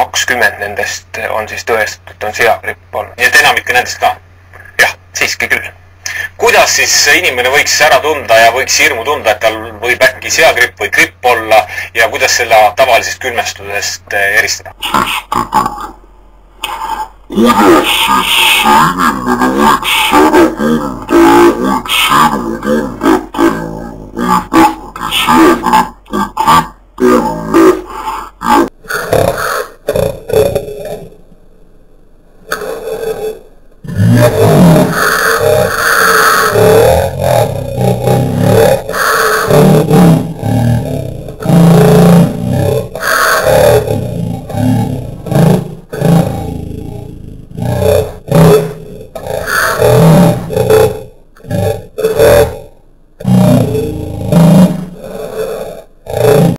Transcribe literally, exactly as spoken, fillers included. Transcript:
kakskümmend nendest on siis tõestatud, et on seagripp olnud. Nii et enamik nendest ka. Jah, siiski küll. Kuidas siis inimene võiks ära tunda ja võiks hirmu tunda, et tal võib äkki seagripp või gripp olla ja kuidas selle tavalisest külmestusest eristada? Kuidas siis inimene võiks ära tunda ja võiks hirmu tunda, et tal võib äkki seagripp või gripp olla?